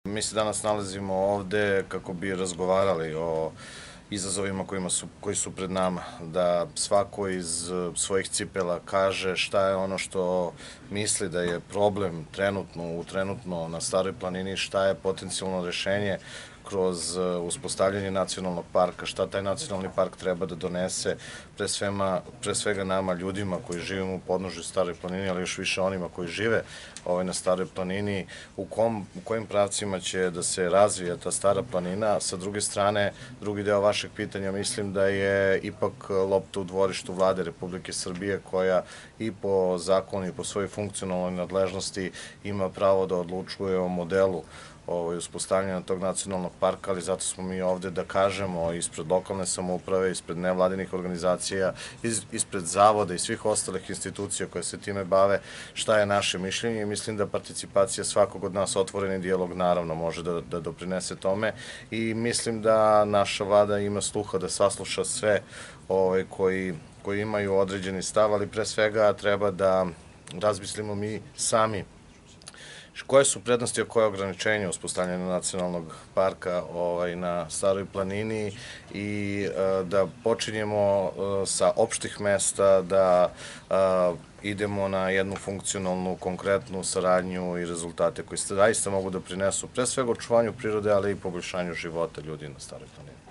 Mi se danas nalazimo ovde kako bi razgovarali o izazovima koji su pred nama, da svako iz svojih cipela kaže šta je ono što misli da je problem trenutno na Staroj planini, šta je potencijalno rešenje kroz uspostavljanje nacionalnog parka, šta taj nacionalni park treba da donese pre svega nama ljudima koji živimo u podnožju Staroj planini, ali još više onima koji žive na Staroj planini, u kojim pravcima će da se razvija ta Stara planina. Sa druge strane, drugi deo vašeg pitanja, mislim da je ipak lopta u dvorištu Vlade Republike Srbije, koja i po zakonu i po svojoj funkcionalnoj nadležnosti ima pravo da odlučuje o modelu uspostavljanja tog nacionalnog parka, ali zato smo mi ovde da kažemo ispred lokalne samouprave, ispred nevladinih organizacija, ispred zavoda i svih ostalih institucija koje se time bave, šta je naše mišljenje, i mislim da participacija svakog od nas, otvoreni dijalog naravno može da doprinese tome, i mislim da naša vlada ima sluha da sasluša sve koji imaju određeni stav, ali pre svega treba da razmislimo mi sami koje su prednosti, a koje ograničenja uspostavljanja nacionalnog parka na Staroj planini, i da počinjemo sa opštih mesta, da idemo na jednu funkcionalnu, konkretnu saradnju i rezultate koji zaista mogu da prinesu pre svega očuvanju prirode, ali i poboljšanju života ljudi na Staroj planini.